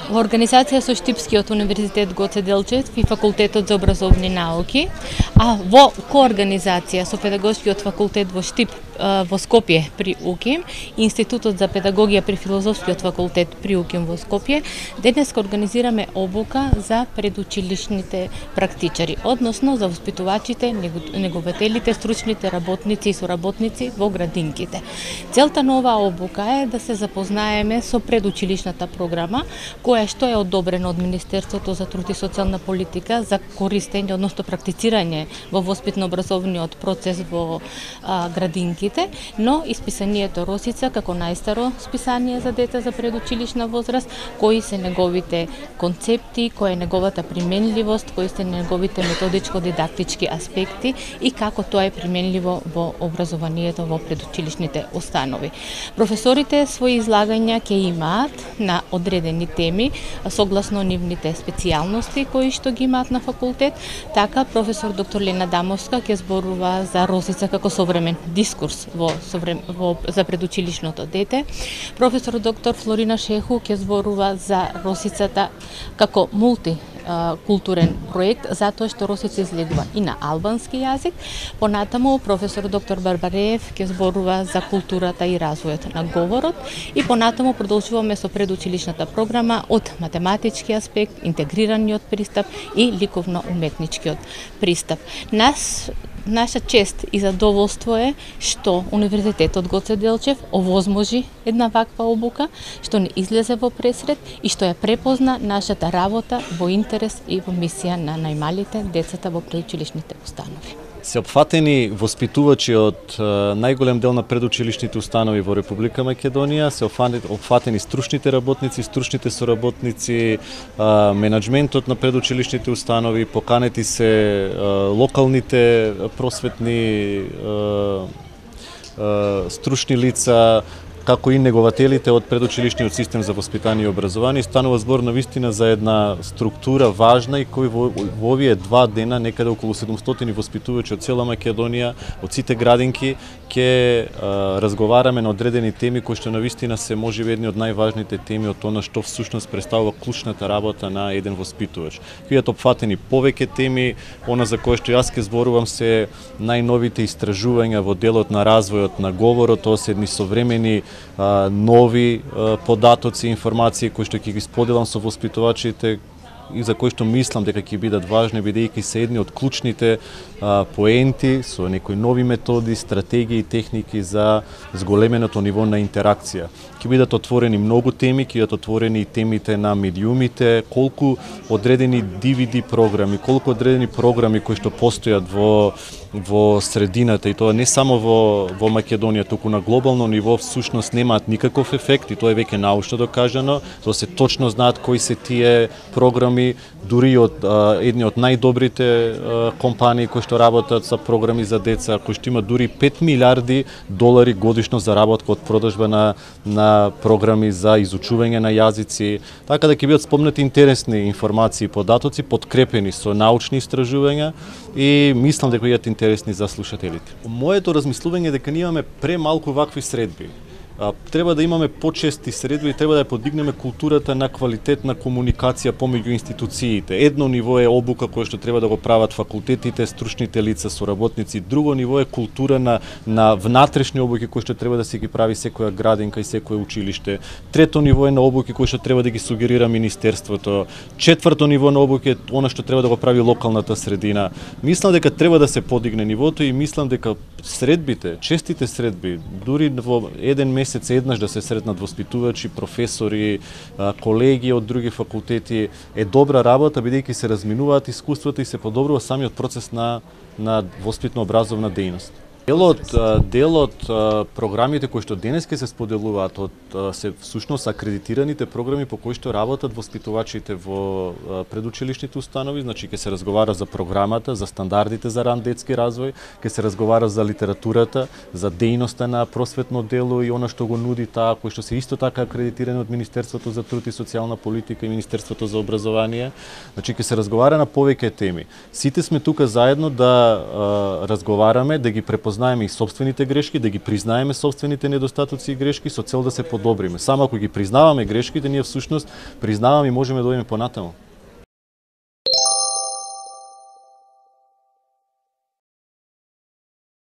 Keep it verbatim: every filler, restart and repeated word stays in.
Во организација со Штипскиот универзитет Гоце Делчев и Факултетот за образовни науки, а во коорганизација со Педагошкиот факултет во Штип во Скопје при УКИМ и Институтот за педагогија при Филозофскиот факултет при УКИМ во Скопје, денес организираме обука за предучилишните практичари, односно за воспитувачите, негователите, стручните работници и соработници во градинките. Целта на оваа обука е да се запознаеме со предучилишната програма, која што е одобрена од Министерството за труд и социјална политика за користење, односно практицирање во воспитно-образовниот процес во а, градинките, но исписанието Росица како најстаро списание за деца за предучилишна возраст, кои се неговите концепти, која е неговата применливост, кои се неговите методичко-дидактички аспекти и како тоа е применливо во образованието во предучилишните установи. Професорите своји излагања ќе имаат на одредени теми согласно нивните специјалности кои што ги имаат на факултет. Така професор доктор Лена Дамовска ќе зборува за Росица како современ дискурс во, во за предучилишното дете. Професор доктор Флорина Шеху ќе зборува за Росицата како мулти културен проект, затоа што Росица излегува и на албански јазик. Понатаму професор доктор Барбареев ќе зборува за културата и развојот на говорот и понатаму продолжуваме со предучилишната програма од математички аспект, интегрираниот пристап и ликовно-уметничкиот пристап. Нас Наша чест и задоволство е што Универзитетот Гоце Делчев овозможи една ваква обука, што не излезе во пресред и што ја препозна нашата работа во интерес и во мисија на најмалите, децата во предучилишните установи. Се опфатени воспитувачи од најголем дел на предучилишните установи во Република Македонија, се опфатени стручните работници, стручните соработници, менаџментот на предучилишните установи, поканети се локалните просветни стручни лица, како и негователите од предучилишниот систем за воспитание и образование. Станува збор на вистина за една структура важна и кој во, во овие два дена, некаде околу седумстотини воспитувачи од цела Македонија, од сите градинки, ќе разговараме на одредени теми кои што на вистина се можеби едни од најважните теми од она што всушност представува клучната работа на еден воспитувач. Бидат опфатени повеќе теми, она за кое што јас ке зборувам се најновите истражувања во делот на развојот на говорот, тоа се едни современи нови податоци, информации кои што ќе ги споделам со воспитувачите и за кои што мислам дека ќе бидат важни, бидејќи се едни од клучните а, поенти со некои нови методи, стратегии и техники за зголеменото ниво на интеракција. Ќе бидат отворени многу теми, ќе бидат отворени и темите на медиумите, колку одредени ди ви ди програми, колку одредени програми кои што постојат во во средината, и тоа не само во во Македонија, туку на глобално ниво всушност немаат никаков ефект, и тоа е веќе научно докажано. Тоа се точно знаат кои се тие програми, дури од а, едни од најдобрите а, компании кои што работат за програми за деца, кои што имаат дури пет милиарди долари годишно заработка од продажба на на програми за изучување на јазици, така да ќе бидат спомнати интересни информации и податоци подкрепени со научни истражувања и мислам дека бидат интересни за слушателите. Моето размислување е дека ние имаме премалку вакви средби. Треба да имаме почести средби и треба да ја подигнеме културата на квалитетна комуникација помеѓу институциите. Едно ниво е обука која што треба да го прават факултетите, стручните лица, соработници. Друго ниво е култура на на внатрешни обуки кои што треба да се ги прави секоја градинка и секое училиште. Трето ниво е на обуки кои што треба да ги сугерира министерството. Четврто ниво на обуки е она што треба да го прави локалната средина. Мислам дека треба да се подигне нивото и мислам дека средбите, честите средби, дури во еден месец еднаш да се сретнат воспитувачи, професори, колеги од други факултети е добра работа, бидејќи се разминуваат искуствата и се подобрува самиот процес на на воспитно-образовна дејност. Делот, делот програмите кои што денес ке се споделуваат од се всушност акредитираните програми по кои што работат воспитувачите во предучилишните установи, значи ке се разговара за програмата, за стандардите за ран детски развој, ке се разговара за литературата, за дејноста на просветно дело и она што го нуди таа, кои што се исто така акредитирани од Министерството за труд и социјална политика и Министерството за образование. Значи ке се разговара на повеќе теми. Сите сме тука заедно да а, разговараме, да ги препознаваме препознаеме и сопствените грешки, да ги признаеме сопствените недостатоци и грешки со цел да се подобриме. Само ако ги признаваме грешките, ние всушност признаваме и можеме да одиме понатаму.